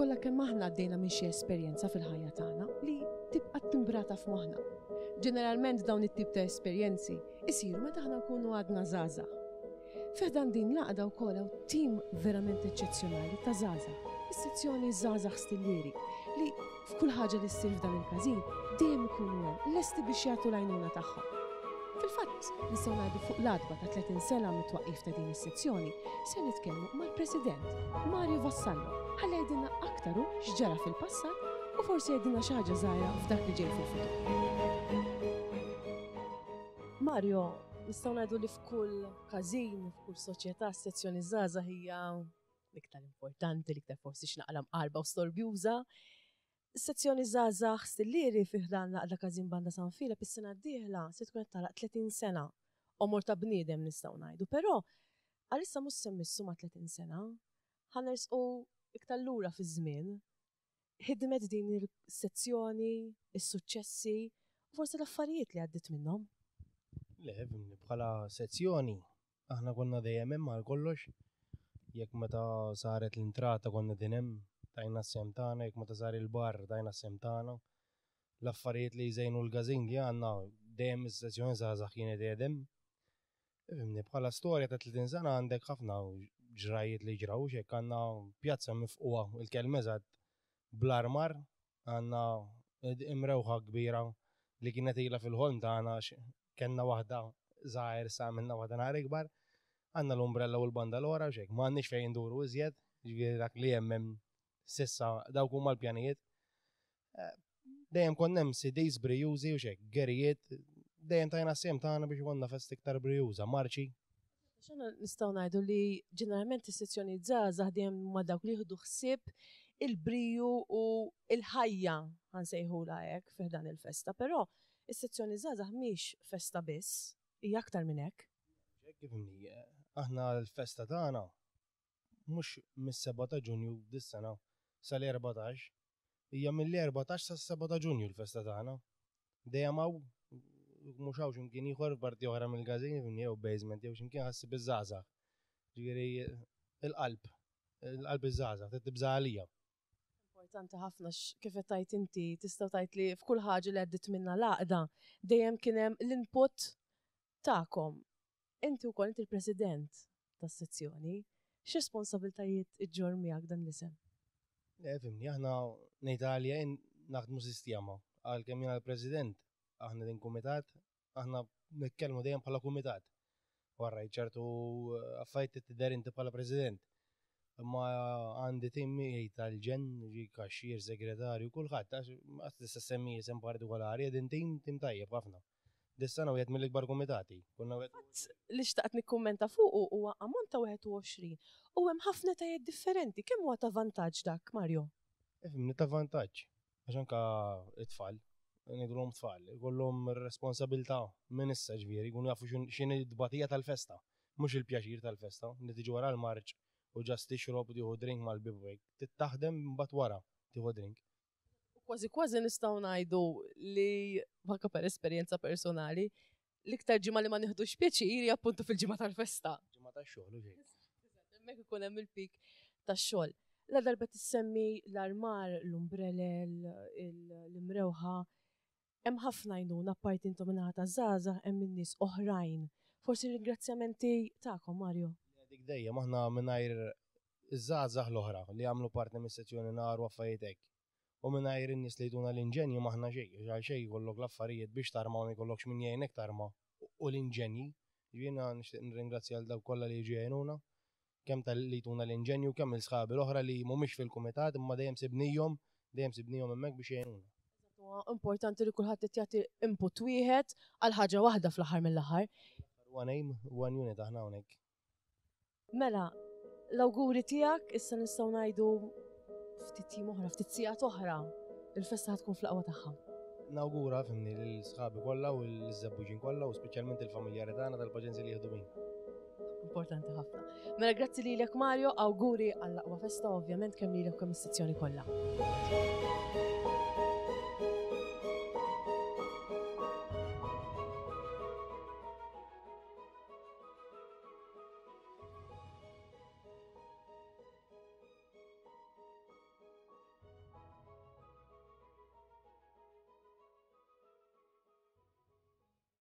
Kollha kemm aħna għaddejna minn xi esperjenza fil-ħajja tagħna li tibqa' timbrata f'moħħna. Ġeneralment dawn it-tip ta' esperjenzi isiru meta aħna nkunu għadna żgħażagħ. Fi ħdan din l-għaqda wkoll hawn tim verament eċċezzjonali ta' żgħażagħ, is-sezzjoni Żgħażagħ Stillieri, li f'kull ħaġa li ssir f'dan il-każin dejjem ikunu hemm lesti biex jagħtu l-għajnuna tagħhom. Fil-fatt, nistgħu ngħidu fuq l-għatba ta' 30 sena mit-twaqqif ta' din is-sezzjoni, se nitkellmu mal-President, Mario Vassallo, ħalli jgħidilna aktar hu x'ġara fil-passat u forsi jgħidilna xi ħaġa żgħira f'dak li ġej fil-futur. Mario, nistgħu ngħidu li f'kull każin, f'kull soċjetà, s-sezzjoni żgħażagħ hija l-iktar importanti, l-iktar forsi x'naqra mqarba u storbjuża. Is-sezzjoni Żgħażagħ Stillieri fi ħdan l-Għaqda Każin Banda San Filep is-sena d-dieħla se tkun qed tagħlaq 30 sena. Għomor ta' bniedem nistgħu ngħidu, però għalissa mhux se mmissu ma' 30 sena. Ħa nersqu iktar lura fiż-żmien. Ħidmet din is-sezzjoni, is-suċċessi u forsi l-affarijiet li għaddiet minnhom. Le, bħala sezzjoni Aħna konna dejjem hemm għal kollox. Jekk meta saret l-intrata konna din hemm, tajna s-sehem tagħna, jekk meta sar il-bar tajna s-sehem tagħna. L-affarijiet li jżejnu l-każin li għandna dejjem is-sezzjoni żgħażagħ kienet qiegħed hemm. Ifhimni, bħala storja ta' 30 sena għandek ħafna ġrajjiet li ġraw, hekk għandna pjazza mifqugħa, il-kelma eżatt, bl-armar, Għandna imrewħa kbira li kienet ilha fil-ħolm tagħna għax kellna waħda żgħir issa għamilna waħda naqra ikbar. Għandna l-umbrella u l-bandalora u x'hekk. M'għandniex fejn induru iżjed, jiġifieri dak li hemm hemm s'issa dawk huma l-pjanijiet. Eh, dejjem konna hemm CDs brijużi u x'hekk, gerijiet, dejjem tajna s-sehem tagħna biex ikollna festa iktar brijuża, marċi. Xana nistgħu ngħidu li ġeneralment is-sezzjonijiet żgħażagħ dejjem huma dawk li jieħdu ħsieb il-briju u l-ħajja ħa nsejħulha hekk fi ħdan il-festa, però is-sezzjoni żgħażagħ mhix festa biss, hija aktar minn hekk. Hekk ifhimni, aħna l-festa tagħna mhux mis-sebgħa ta' Ġunju dis-sena sal-erbatax, hija mill-erbatax sas-sebgħa ta' Ġunju l-festa tagħna. Dejjem hawn, mhux hawn x'imkien ieħor f'parti oħra mill-każin, jew basement jew x'imkien ħa ssib iż-żgħażagħ. Ġifieri il-qalb, il-qalb iż-żgħażagħ, trid tibża' għalija. Importanti ħafna kif qed tgħid inti, tista' tgħid li f'kull ħaġa li għaddiet minnha l-għaqda dejjem kien hemm l-input tagħkom. Inti wkoll inti l-President tas-sezzjoni. X'responsabiltajiet iġġorr miegħek dan l-isem? Le, fimni, aħna ngħid għalija jien naħdmu sistema. Għalkemm jiena l-President, aħna din kumitat, aħna nitkellmu dejjem bħala kumitat. Warra ċertu eh, affarijiet tidher inti bħala President. Imma għandi tim miegħi tal-ġenn, ġi kaxxier, segretarju, kulħadd, għax tista' semmi isem partikolari, din tim tim tajjeb ħafna. Dis-sena wieħed mill-ikbar kumitati. Konna wieħed. Fatt li xtaqt nikkummenta fuqu huwa ammont ta' 21 u hemm ħafna etajiet differenti. Kemm huwa ta' vantaġġ dak, Mario? Ifhimni, ta' vantaġġ. Għax anke t-tfal, ngħidulhom tfal, ikollhom ir-responsabilità minn issa ġifieri, jkunu jafu x'inhi t-tbatija tal-festa. Mhux il-pjaċir tal-festa, li tiġi wara l-marċ u ġast tixrob u tieħu drink mal-ħbieb u hekk. Trid taħdem imbagħad wara tieħu drink. U kważi kważi nistgħu ngħidu li anke per esperjenza personali, l-iktar ġimgħa li ma nieħdux pjaċir hija appuntu fil-ġimgħa tal-festa. Ġimgħa tax-xogħol u xejn. Hemmhekk ikun hemm il-pik tax-xogħol. La darba tissemmi l-armar, l-umbrelel, l-imrewħa, hemm ħafna għajnuna apparti intom min-naħa taż-żgħażagħ hemm in-nies oħrajn. Forsi ringrazzjamenti tagħkom, Mario. Dik dejjem aħna mingħajr iż-żgħażagħ l-oħra li jagħmlu parti mis-sezzjoni nar u affarijiet hekk. U mingħajr in-nies li jtuna l-inġenji m'aħna xejn, għax għal xejn jkollok l-affarijiet biex tarma u ma jkollokx min jgħinek tarma u l-inġenji. Jiġifieri jiena nixtieq nirringrazzja lil dawk kollha li jiġu jgħinuna, kemm talli jtuna l-inġenju u kemm lil sħabi l-oħra li mhumiex fil-kumitat imma dejjem sibnihom, dejjem sibnihom hemmhekk biex jgħinuna. Eżatt, huwa importanti li kulħadd qed jagħti input wieħed għal ħaġa waħda fl-aħħar mill-aħħar. One aim, one unit aħna hawnhekk. Mela, l-awguri tiegħek issa nistgħu ngħidu ftit jiem oħra, ftit sigħat oħra, il-festa tkun fl-aqwa tagħha. Nawgura fimni lil sħabi kollha u l-żebbuġin kollha u speċjalment il-familjari tagħna tal-paġenzi li jieħdu bina. Importanti ħafna. Mela grazzi lilek Mario, awguri għall-aqwa festa ovvjament kemm lilek kemm is-sezzjoni kollha.